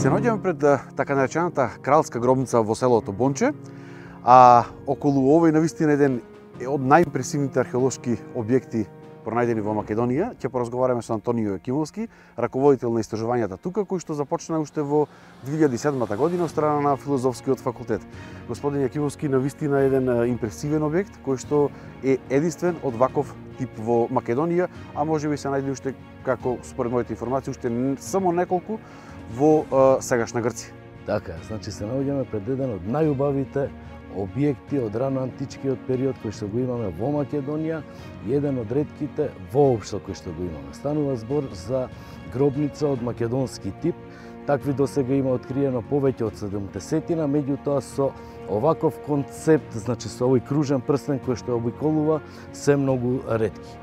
Се наоѓаме пред така наречената кралска гробница во селото Бонче, а околу овој навистина еден од најимпресивните археолошки објекти пронајдени во Македонија. Ќе поразговараме со Антонио Јакимовски, раководител на истражувањата тука, кој што започна уште во 2007 година од страна на Филозофскиот факултет. Господин Јакимовски, навистина еден импресивен објект кој што е единствен од ваков тип во Македонија, а можеби се најде уште, како според моите информации, уште само неколку во сегашна Грција. Така, значи се наоѓаме пред еден од најубавите објекти од рано античкиот период кој што го имаме во Македонија и еден од ретките воопшто кој што го имаме. Станува збор за гробница од македонски тип. Такви досега има откриено повеќе од 70-тина, меѓутоа со оваков концепт, значи со овој кружен прстен кој што обиколува, се многу ретки.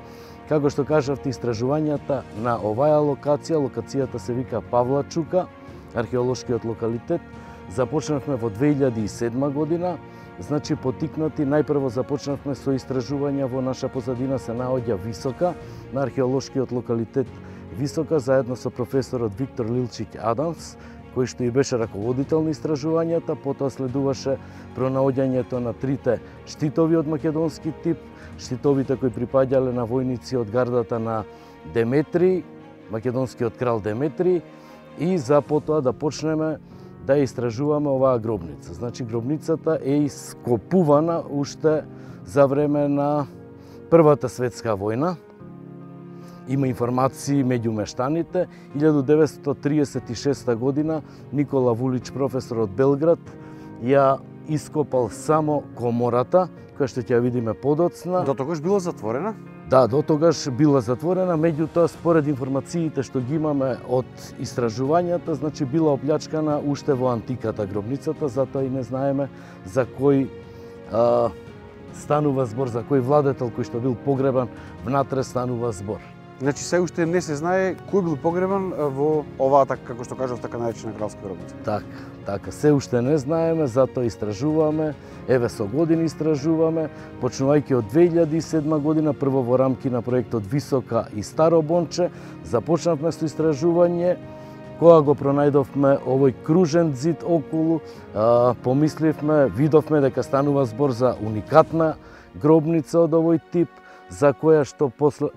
Како што кажавте, истражувањата на оваа локацијата се вика Павлачука, археолошкиот локалитет, започнавме во 2007 година. Значи, потикнати, најпрво започнавме со истражувања во наша позадина се наоѓа Висока, на археолошкиот локалитет Висока, заедно со професорот Виктор Лилчиќ Адамс, кој што и беше раководител на истражувањата. Потоа следуваше пронаоѓањето на трите штитови од македонски тип, штитовите кои припаѓале на војници од гардата на Деметрий, македонскиот крал Деметрий, и за потоа да почнеме да истражуваме оваа гробница. Значи, гробницата е ископувана уште за време на Првата светска војна. Има информации меѓу мештаните. 1936 година Никола Вулич, професор од Белград, ја ископал само комората, која што ќе ја видиме подоцна. До тогаш била затворена? Да, до тогаш била затворена, меѓутоа според информациите што ги имаме од истражувањата, значи била оплячкана уште во антиката гробницата, затоа и не знаеме за кој станува збор, за кој владетел кој што бил погребан внатре станува збор. Значи се уште не се знае кој бил погребан во оваа, како што кажав, така наречена кралска гробница. Така, се уште не знаеме, затоа истражуваме, еве со години истражуваме, почнувајќи од 2007 година, прво во рамки на проектот Висока и Старо Бонче, започнавме со истражување. Кога го пронајдовме овој кружен зид околу, помисливме, видовме дека станува збор за уникатна гробница од овој тип, за која што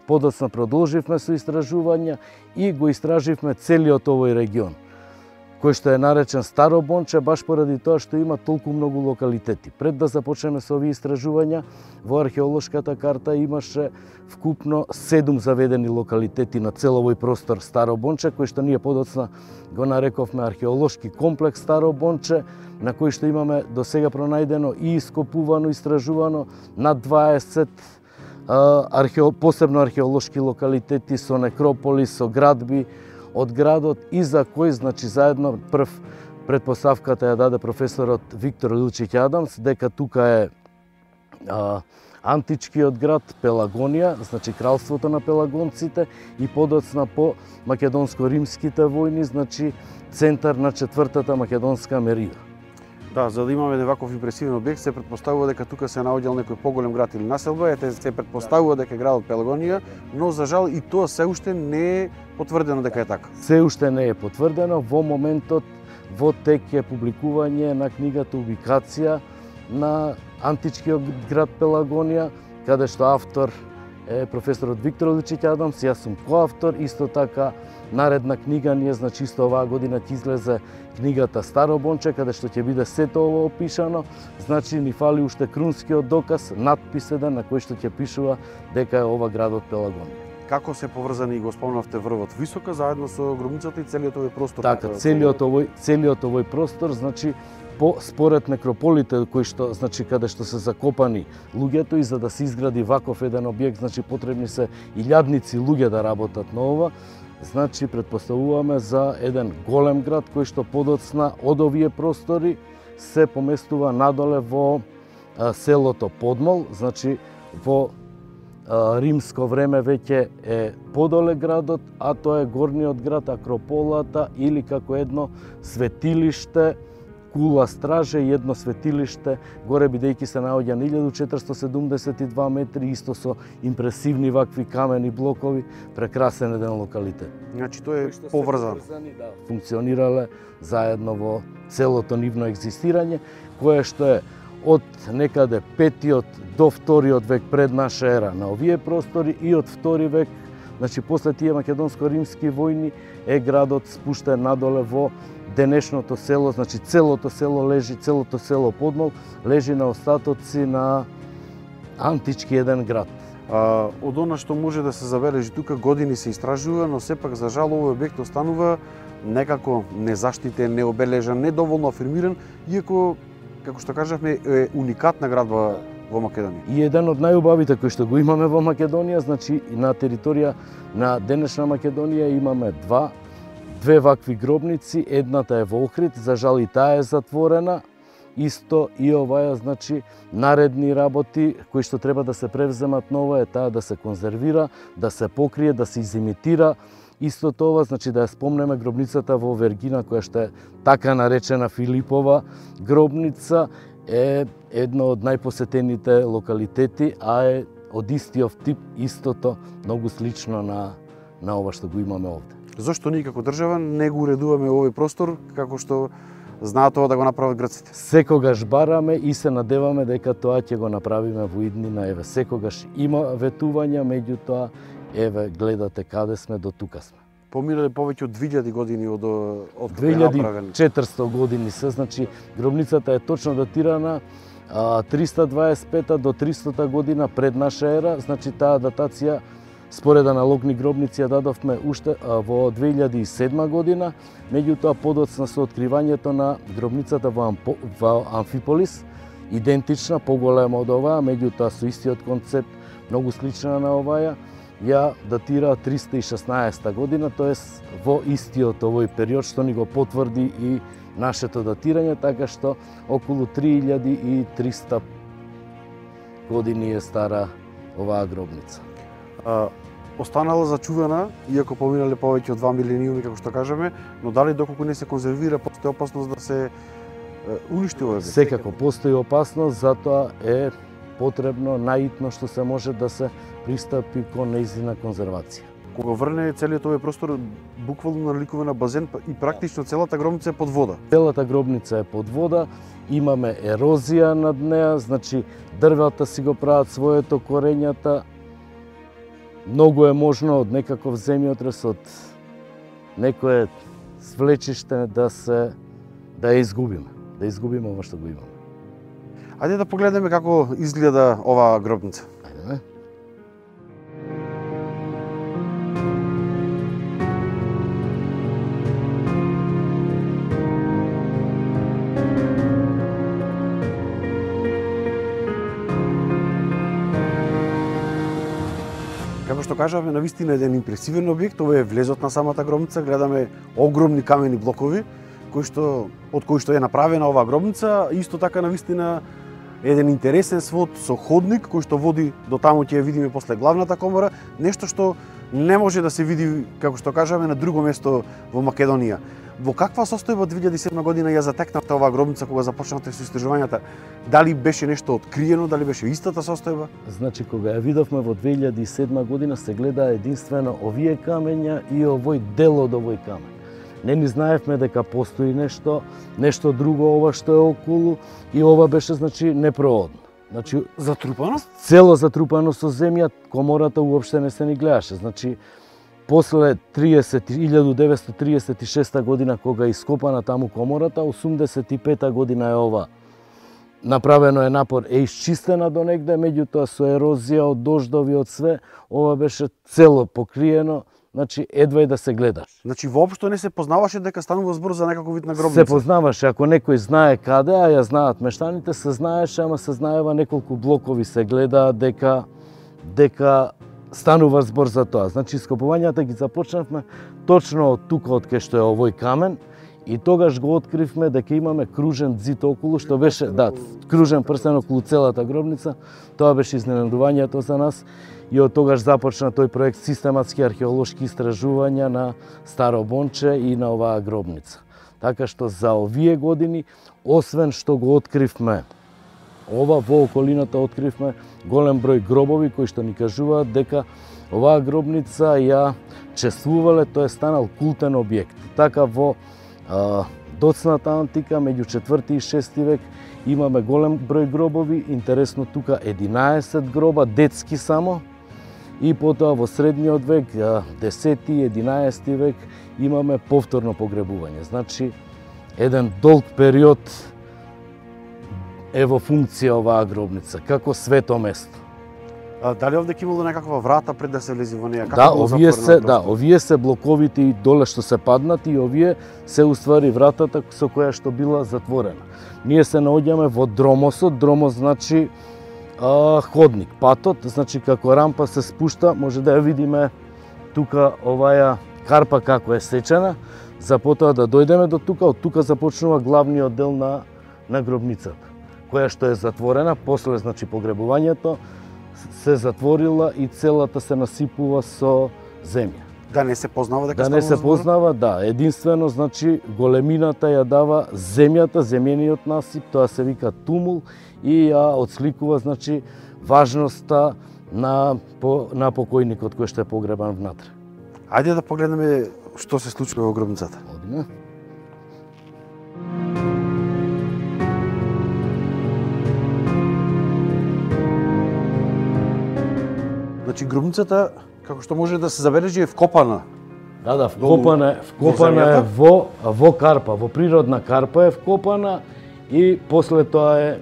подоцна продолживме со истражувања и го истраживме целиот овој регион, кој што е наречен Старо Бонче, баш поради тоа што има толку многу локалитети. Пред да започнеме со овие истражувања, во археолошката карта имаше вкупно 7 заведени локалитети на цел овој простор Старо Бонче, кој што ние подоцна го нарековме археолошки комплекс Старо Бонче, на кој што имаме до сега пронајдено и ископувано, истражувано над 20 посебно археолошки локалитети со некрополи, со градби од градот, и за кој, значи, заедно прв предпоставката ја даде професорот Виктор Лилчиќ Адамс, дека тука е античкиот град Пелагонија, значи кралството на пелагонците, и подоцна по македонско-римските војни, значи центар на четвртата македонска мерија. Да, за да имаме ваков импресивен објект, се претпоставува дека тука се наоѓал некој поголем град или населба, се претпоставува дека е градот Пелагонија, но за жал и тоа се уште не е потврдено дека е така. Се уште не е потврдено. Во моментот во тек е публикување на книгата Убикација на античкиот град Пелагонија, каде што автор е професорот Виктор Лилчиќ Адамс, јас сум коавтор. Исто така наредна книга ние, значи исто оваа година ќе излезе книгата Старо Бонче, каде што ќе биде сето ово опишано. Значи ни фали уште крунскиот доказ, надпис еден на кој што ќе пишува дека е ова градот Пелагонија. Како се поврзани, го спомнавте, врвот Висока заедно со гробницата и целиот овој простор? Така, целиот овој простор, значи според некрополите кои што, значи, каде што се закопани луѓето, и за да се изгради ваков еден објект, значи потребни се илјадници луѓе да работат на ова. Значи, предпоставуваме за еден голем град кој што подоцна од овие простори се поместува надоле во селото Подмол, значи во римско време веќе е подоле градот, а тоа е горниот град, Акрополата, или како едно светилиште кула страже и едно светилиште, горе бидејќи се наоѓа на 1472 метри, исто со импресивни вакви камени блокови, прекрасен еден локалитет. Значи тој е поврзан. Да, функционирале заедно во целото нивно екзистирање, кое што е од некаде 5-тиот до 2-тиот век пред наша ера на овие простори и од 2 век, значи после тие македонско-римски војни е градот спуштен надоле во денешното село, значи целото село Подмол лежи на остатоци на антички еден град. Од она што може да се забележи тука, години се истражува, но сепак за жал овој објект останува некако незаштитен, необележан, недоволно афирмиран, иако, како што кажавме, е уникатна градба во Македонија. И еден од најубавите кои што го имаме во Македонија, значи на територија на денешна Македонија имаме две вакви гробници, едната е во Охрид, за жал и таа е затворена. Исто и оваа, значи, наредни работи кои што треба да се превземат ново е таа да се конзервира, да се покрие, да се изимитира. Исто тоа, значи, да ја спомнеме гробницата во Вергина, која што е така наречена Филипова гробница, е едно од најпосетените локалитети, а е од истиот тип, истото, многу слично на ова што го имаме овде. Зошто ние како држава не го уредуваме овој простор, како што знаат ова да го направат грците? Секогаш бараме и се надеваме дека тоа ќе го направиме во иднина. Еве, секогаш има ветувања, меѓутоа, еве, гледате каде сме, до тука сме. Поминале повеќе од 2000 години од кога е направен. 2400 години се, значи гробницата е точно датирана 325 до 300 година пред наша ера, значи таа датација според аналогни гробници ја дадовме уште во 2007 година, меѓутоа подоцна со откривањето на гробницата во Амфиполис, идентична, поголема од оваа, меѓутоа со истиот концепт, многу слична на оваа, ја датира 316 година, тоест во истиот овој период што ни го потврди и нашето датирање, така што околу 3300 години е стара оваа гробница. Останала зачувана, иако поминале повеќе од 2 милениуми, како што кажаме, но дали доколку не се конзервира, постои опасност да се уништи овој објект? Секако постои опасност, затоа е потребно наитно што се може да се пристапи кон нејзина конзервација. Кога врне целиот овој простор буквално наликува на базен и практично целата гробница е под вода. Целата гробница е под вода, имаме ерозија над неа, значи дрвата си го прават своето, корењата. Многу е можно од некаков земјотрес, од некое свлечиште да ја изгубиме ова што го имаме. Ајде да погледнеме како изгледа оваа гробница. Ајде. Како што кажавме, навистина еден импресивен објект, ова е влезот на самата гробница, гледаме огромни камени блокови, од кои што е направена оваа гробница, исто така навистина еден интересен свод со ходник кој што води до таму, ќе ја видиме после главната комора, нешто што не може да се види, како што кажаме, на друго место во Македонија. Во каква состојба 2007 година ја затекнавте оваа гробница кога започнавте со истражувањата? Дали беше нешто откриено, дали беше истата состојба? Значи, кога ја видовме во 2007 година, се гледа единствено овие камења и овој дел од овој камен. Не ни знаевме дека постои нешто друго ова што е околу, и ова беше, значи, непроодно. Значи, затрупано? Цело затрупано со земја, комората уопште не се ни гледаше. Значи, после 1936 година, кога е ископана таму комората, 85 година е ова. Направено е напор, е исчистена до негде, меѓутоа со ерозија од дождови, од све, ова беше цело покриено, значи едва и да се гледаш. Значи воопшто не се познаваше дека станува збор за некаков вид на гробница? Се познаваше, ако некој знае каде, а ја знаат мештаните, се знаеше, ама се знаева неколку блокови, се гледа дека станува збор за тоа. Значи ископувањата ги започнавме точно од тука, од кај што е овој камен, и тогаш го откривме дека имаме кружен ѕид околу, што беше, кружен прстен околу целата гробница. Тоа беше изненадувањето за нас, и од тогаш започна тој проект систематски археолошки истражувања на Старо Бонче и на оваа гробница. Така што за овие години, освен што го откривме ова, во околината откривме голем број гробови кои што ни кажуваат дека оваа гробница ја чествувале, тој е станал култен објект. Така во доцната антика, меѓу 4 и 6 век, имаме голем број гробови, интересно тука 11 гроба, детски само, и потоа во средниот век, 10-11 век, имаме повторно погребување. Значи, еден долг период е во функција оваа гробница, како свето место. Дали овде ќе имало некаква врата пред да се влезе во неја? Да, овие се блоковите и доле што се паднати, и овие се уствари вратата со која што била затворена. Ние се наоѓаме во дромосот, дромос значи ходник, патот, значи како рампа се спушта, може да ја видиме тука оваја карпа како е сечена, за потоа да дојдеме до тука, од тука започнува главниот дел на гробницата, која што е затворена, после значи погребувањето се затворила и целата се насипува со земја. Да не се познава дека да не се познава, да, единствено значи големината ја дава земјата, земјениот насип, тоа се вика тумул и ја отсликува значи важноста на покојникот кој што е погребан внатре. Ајде да погледнеме што се случува во гробницата. Одиме. Значи гробницата, како што може да се забележи, е вкопана. Да, вкопана е во карпа, во природна карпа е вкопана и после тоа е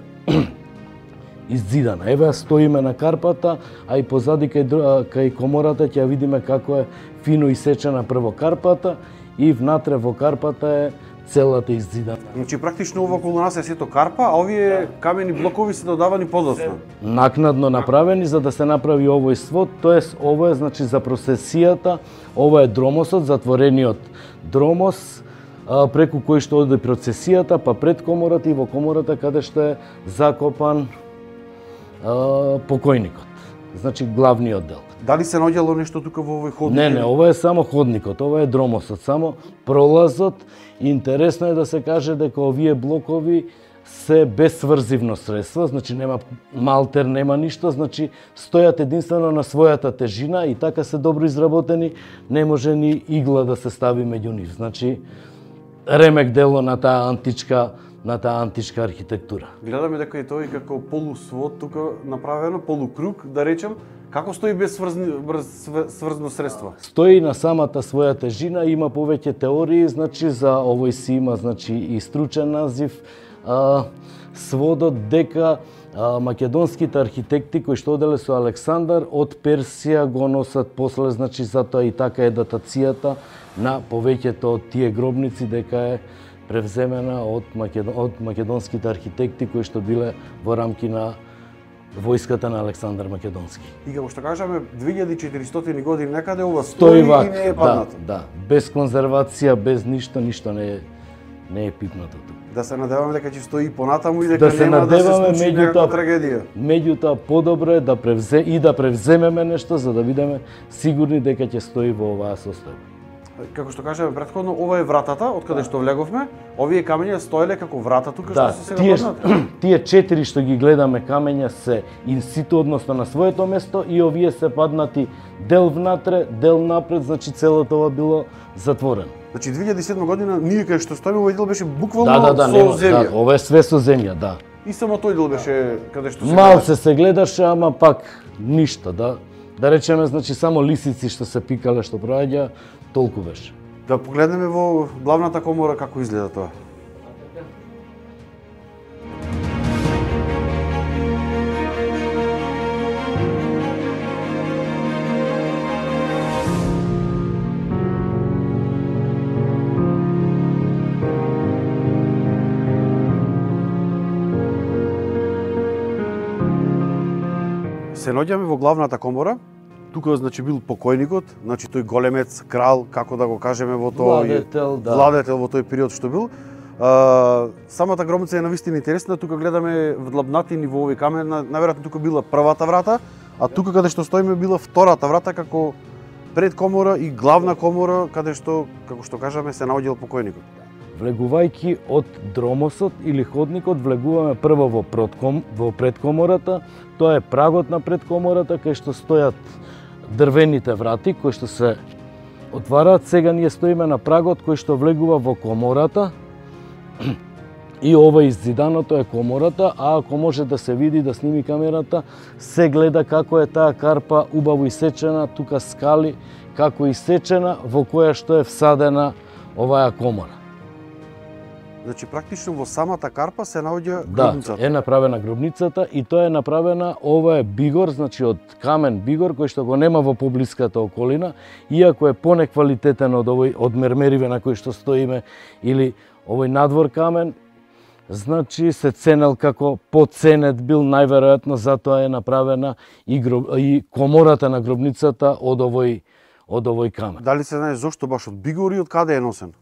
иззидана. Еве стоиме на карпата, а и позади кај комората ќе видиме како е фино исечена прво карпата и внатре во карпата е целата иззидана. Значи практично ова околу нас е сето карпа, а овие камени блокови се додавани подоцна. Накнадно направени за да се направи овој свод, тоест ово е значи за процесијата, ова е дромосот, затворениот дромос преку кој што оди процесијата, па пред комората и во комората каде што е закопан покојникот. Значи главниот дел. Дали се наоѓало нешто тука во овој ходник? Не, ова е само ходникот, ова е дромосот, само пролазот. Интересно е да се каже дека овие блокови се без сврзивно средство, значи нема малтер, нема ништо, значи стојат единствено на својата тежина и така се добро изработени, не може ни игла да се стави меѓу нив. Значи ремек дело на таа античка архитектура. Гледаме дека и тој како полусвод тука направено, полукруг, да речем, како стои без сврзно средство? Стои на самата своја тежина, има повеќе теории, значи за овој си има значи и стручен назив, сводот дека македонските архитекти кои што оделе со Александар од Персија го носат после, значи затоа и така е датацијата на повеќето од тие гробници дека е превземена од македонските архитекти кои што биле во рамки на војската на Александар Македонски. И како што кажаме, 2400 години некаде ова стои и не е паднато. Да, без конзервација, без ништо не е пипнато тука. Да се надеваме дека ќе стои понатаму и дека нема да се случи некаква трагедија. Меѓутоа подобро е да превземеме нешто за да бидеме сигурни дека ќе стои во оваа состојба. Како што кажаме претходно, ова е вратата од каде што влеговме. Овие камења стоеле како врата тука што се сега паднат. Тие 4 што ги гледаме камења се инситу, односно на своето место, и овие се паднати дел внатре, дел напред, значи целото ова било затворено. Значи 2007 година ние кај што стоиме овој дел беше буквално со земја. Да, ова е све со земја, да. И само тој дел беше каде што се малце се гледаше, ама пак ништо, да. Да речеме, значи само лисици што се пикале, што проаѓа, толку беше. Да погледнеме во главната комора како изгледа тоа. Се наоѓаме во главната комора. Тука значи бил покојникот, значи тој големец, крал, како да го кажеме во тој владетел во тој период што бил. Самата гробница е навистина интересна, тука гледаме вдлабнатини во овој камен, најверојатно тука била првата врата, а тука каде што стоиме била втората врата како пред комора и главна комора каде што, како што кажаме, се наоѓал покојникот. влегувајќи од дромосот или ходникот, влегуваме прво во предкомората, тоа е прагот на предкомората, кај што стојат дрвените врати, кои што се отвараат. Сега ние стоиме на прагот кој што влегува во комората, и ова иззиданото е комората, а ако може да се види, да сними камерата, се гледа како е таа карпа убаво исечена, тука скали, како исечена, во која што е всадена оваа комора. Значи практично во самата карпа се наоѓа гробницата. Да, е направена гробницата и тоа е направена, ова е бигор, значи од камен бигор кој што го нема во поблиската околина, иако е понеквалитетен од овој од мермериве на кој што стоиме или овој надвор камен, значи се ценел како поценет бил, најверојатно затоа е направена и комората на гробницата од овој камен. Дали се знае зошто баш од бигор и од каде е носен?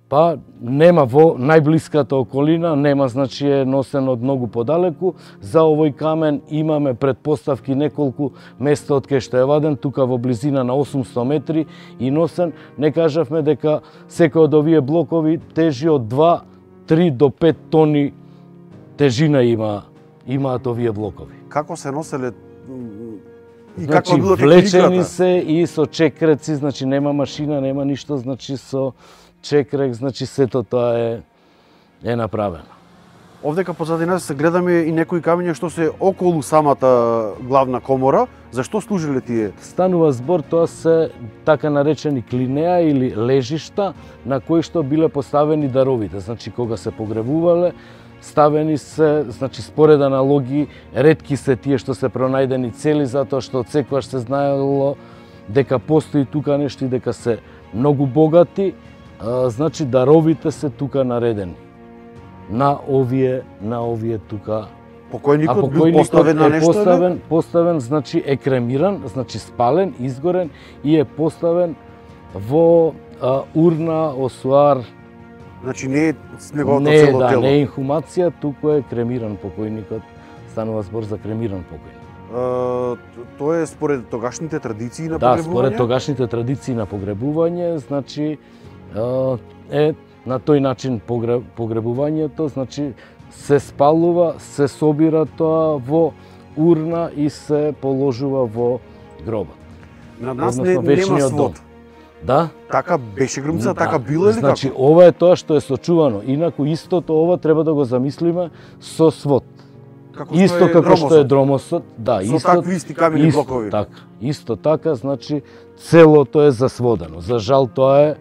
Па нема во најблиската околина, нема, значи е носен од многу подалеку. За овој камен имаме предпоставки неколку места од кај што е ваден, тука во близина на 800 метри и носен. Не кажавме дека секој од овие блокови тежи од 2-3 до 5 тони тежина имаат овие блокови. Како се носеле и значи, како било влечени се и со чекреци, значи нема машина, нема ништо, значи со чекрек, значи сето тоа е направено. Овдека позади нас се гледаме и некои камења што се околу самата главна комора. Зашто служиле тие? Станува збор, тоа се така наречени клинеа или лежишта на кои што биле поставени даровите. Значи кога се погребувале, ставени се, значи според аналоги, ретки се тие што се пронајдени цели, затоа што од секогаш се знаело дека постои тука нешто и дека се многу богати. Значи даровите се тука наредени на овие тука. Покојникот бил поставен на нешто? Поставен, значи е кремиран, значи спален, изгорен и е поставен во урна, осуар. Значи не е неговото цело тело? Не е инхумација, туку е кремиран покојникот. Станува збор за кремиран покојник. Тоа е според тогашните традиции на погребување? Да, според тогашните традиции на погребување, значи е на тој начин погребувањето, значи се спалува, се собира тоа во урна и се положува во гробот. На нас нема свод. Да? Така беше гробница, така било или како? Значи ова е тоа што е сочувано, инаку истото ова треба да го замислиме со свод. Исто како што е дромосот, да, со такви исти камени блокови. Исто така, значи целото е засводено. За жал тоа е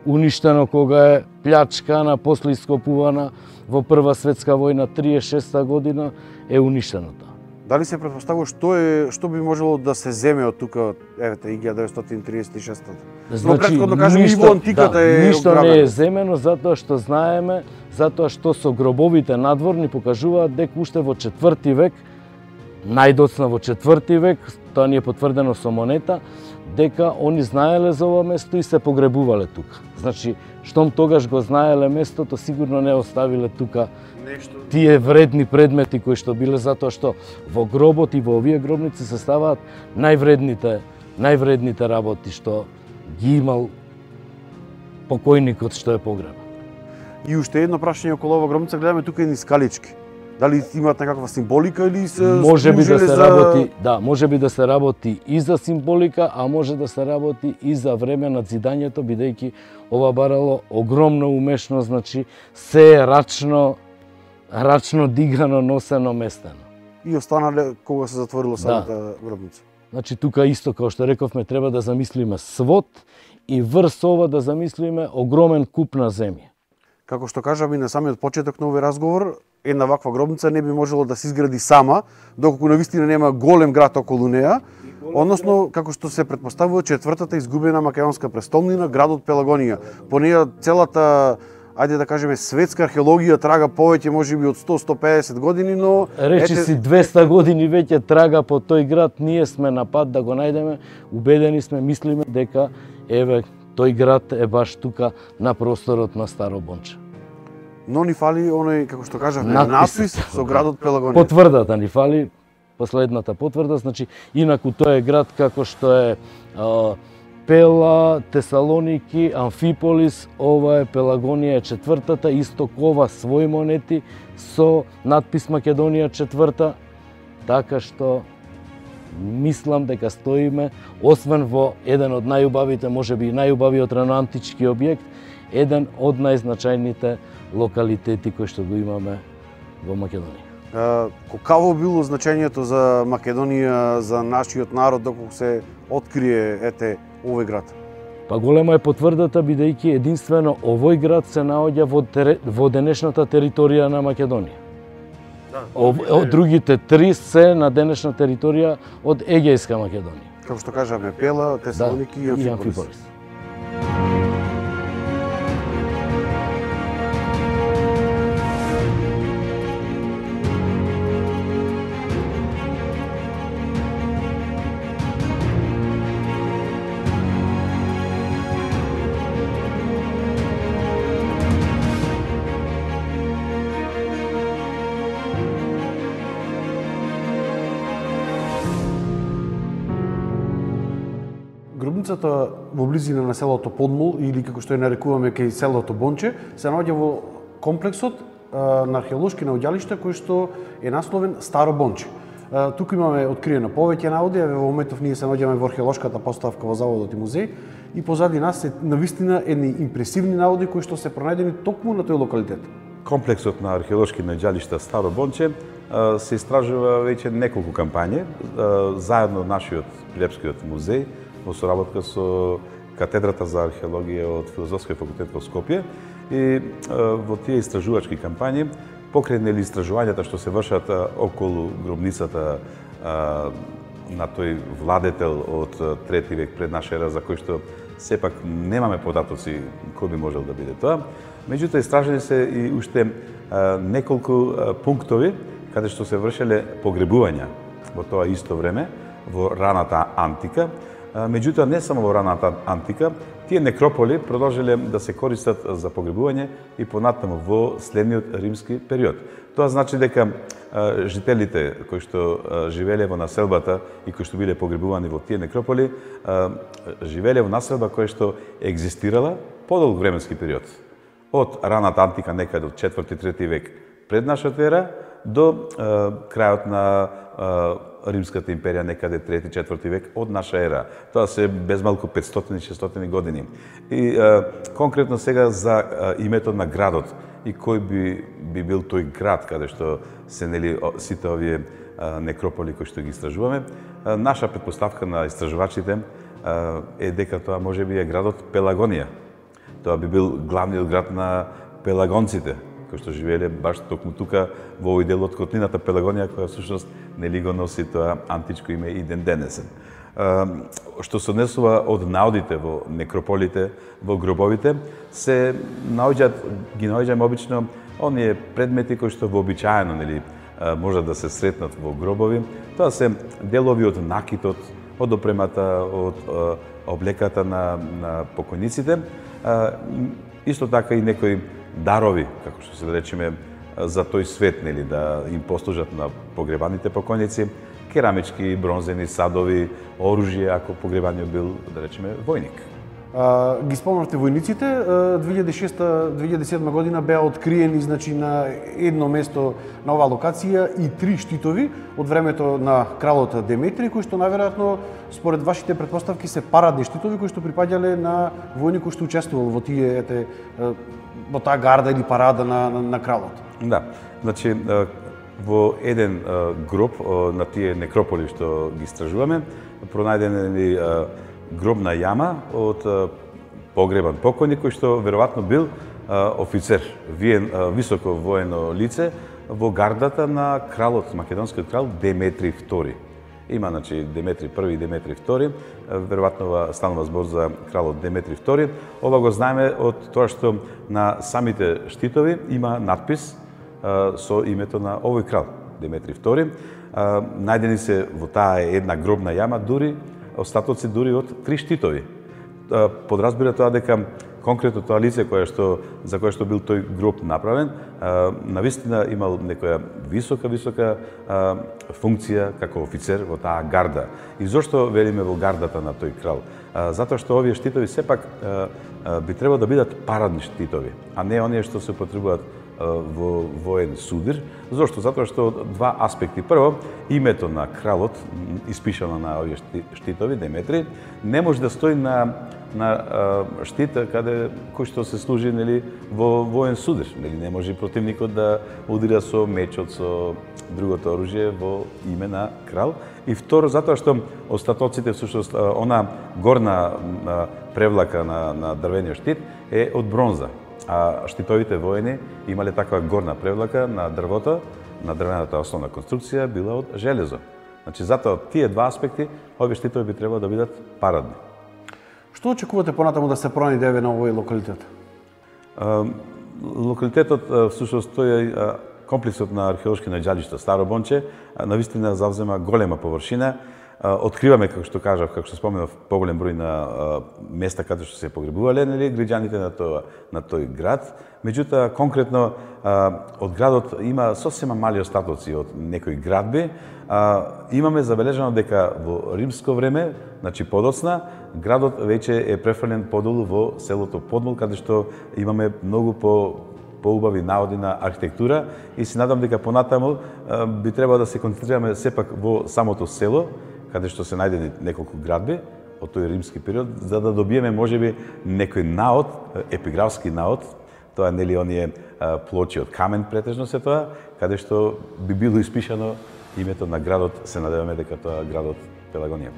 уништено кога е плячкана, после ископувана во Прва светска војна 36 година е уништено тоа. Дали се претпоставува што би можело да се земе од тука, евете, 1936? Но претходно кажем и во антиката е ништо не е земено затоа што знаеме, затоа што со гробовите надворни покажуваат дека уште во 4 век, најдоцна во 4 век, тоа ни е потврдено со монета, дека они знаеле за ова место и се погребувале тука. Значи, штом тогаш го знаеле местото, сигурно не оставиле тука тие вредни предмети кои што биле, затоа што во гробот и во овие гробници се ставаат највредните работи што ги имал покојникот што е погребан. И уште едно прашање околу ова гробница, гледаме тука едни скалички. Дали имаат некаква символика или се можеби да се работи, да, можеби да се работи и за символика, а може да се работи и за време на зидањето, бидејќи ова барало огромна умешност, значи се е рачно дигано, носено, местено. И останале кога се затворило самата гробница. Значи тука исто, како што рековме, треба да замислиме свод и врз ова да замислиме огромен куп на земја. Како што кажам и на самиот почеток на овој разговор, една ваква гробница не би можело да се изгради сама, доколку навистина нема голем град околу неа, односно, како што се претпоставува, четвртата изгубена македонска престолнина, градот Пелагонија. По неја целата, ајде да кажеме, светска археологија трага повеќе, можеби од 100-150 години, но речи си 200 години веќе трага по тој град, ние сме на пат да го најдеме, убедени сме, мислиме дека еве тој град е баш тука на просторот на Старо Бонче. Но ни фали оној, како што кажавме, надпис со градот Пелагонија. Потврдата ни фали, последната потврда, значи инаку тој е град како што е Пела, Тесалоники, Амфиполис, ова е Пелагонија четвртата, исто кова своји монети со надпис Македонија четврта, така што мислам дека стоиме, освен во еден од најубавите, можеби и најубавиот раноантички објект, еден од најзначајните локалитети кои што го имаме во Македонија. Какво било значењето за Македонија, за нашиот народ, доколку се открие овој град? Па голема е потврдата, бидејќи единствено овој град се наоѓа во денешната територија на Македонија. Од другите три се на денешна територија од Егејска Македонија. Како што кажаме, Пела, Тесалоники и Амфиполис. Гробницата во близина на селото Подмол, или како што ја нарекуваме кај селото Бонче, се наоѓа во комплексот на археолошки наоѓалишта кој што е насловен Старо Бонче. Туку имаме откриено повеќе наоѓи, во моментов ние се наоѓаме во археолошката поставка во заводот и музеј и позади нас се навистина едни импресивни наоѓи кои што се пронајдени токму на тој локалитет. Комплексот на археолошки наоѓалишта Старо Бонче се истражува веќе неколку кампањи заедно нашиот Прилепскиот музеј во соработка со катедрата за археологија од Филозофскиот факултет во Скопје и во тие истражувачки кампањи покрај истражувањата што се вршат околу гробницата на тој владетел од 3 век пред наша ера, за кој што сепак немаме податоци кој би можел да биде тоа. Меѓутоа истражени се и уште неколку пунктови каде што се вршеле погребувања во тоа исто време во раната антика. Меѓутоа, не само во раната антика, тие некрополи продолжиле да се користат за погребување и понатаму во следниот римски период. Тоа значи дека жителите кои што живееле во населбата и кои што биле погребувани во тие некрополи, живееле во населба која што екзистирала подолг временски период. Од раната антика, некаде од 4-3 век пред нашата ера, до крајот на Римската империја, некаде 3-4 век од наша ера. Тоа се безмалку 500-600 години. И конкретно сега за името на градот и кој би бил тој град каде што се сите овие некрополи кои што ги истражуваме. Наша претпоставка на истражувачите е дека тоа можеби е градот Пелагонија. Тоа би бил главниот град на пелагонците, кои што живееле баш токму тука во овој дел од котлината Пелагонија, која всушност нели го носи тоа античко име и ден денесен. Што се однесува од наодите во некрополите, во гробовите, се ги наоѓаме обично оние предмети кои што вообичаено нели можат да се сретнат во гробови. Тоа се делови од накитот, од опремата, од облеката на покојниците, исто така и некои дарови, како што се да речеме, за тој свет, нели, да им послужат на погребаните покојници, керамички, бронзени садови, оружје, ако погребаниот бил, да речеме, војник. Ги спомнавте војниците, 2006-2007 година беа откриени на едно место на оваа локација и 3 штитови од времето на кралот Деметри, кои што најверојатно според вашите претпоставки се парадни штитови кои што припаѓале на војник кој што учествувал во во таа гарда или парада на кралот. Да, значи во еден гроб на тие некрополи што ги истражуваме, пронајден е гробна јама од погребан покојник кој што веројатно бил офицер, високо воено лице во гардата на кралот, македонскиот крал Деметри II. Има, значи, Деметри I и Деметри II, веројатно станува збор за кралот Деметри II. Ова го знаеме од тоа што на самите штитови има надпис со името на овој крал, Деметри II. Најдени се во таа една гробна јама дури остатоци дури од 3 штитови. Подразбира тоа дека конкретно тоа лице за кое што бил тој гроб направен, навистина имал некоја висока функција како офицер во таа гарда. И зошто велиме во гардата на тој крал? Затоа што овие штитови сепак би требало да бидат парадни штитови, а не оние што се употребуваат во воен судир. Зошто? Затоа што два аспекти. Прво, името на кралот, испишано на овие штитови, Деметри, не може да стои на штита кој што се служи во воен судир. Не може противникот да удира со мечот, со другото оружје во име на крал. И второ, затоа што остатоците, всушност, она горна превлака на дрвениот штит е од бронза. А штитовите воени имале таква горна превлака на дрвото, на дрвената основна конструкција била од железо. Значи, затоа тие два аспекти, овие штитови би требало да бидат парадни. Што очекувате понатаму да се пронајде на овој локалитет? Локалитетот, всушност, тој е комплексот на археолошки наѓалишта Старо Бонче, навистина завзема голема површина. Откриваме, како што кажав, како што споменав, поголем број на места каде што се погребувале граѓаните на тој град. Меѓутоа, конкретно, од градот има сосема мали остатоци од некои градби. Имаме забележано дека во римско време, значи подоцна, градот веќе е префрлен подолу во селото Подмол, каде што имаме многу поубави наоди на архитектура и се надам дека понатаму би требало да се концентрираме сепак во самото село, каде што се најдени неколку градби од тој римски период, за да добиеме можеби некој наод, епиграфски наод, тоа нели оние плочи од камен претежно се тоа, каде што би било испишано името на градот, се надеваме дека тоа градот Пелагонија.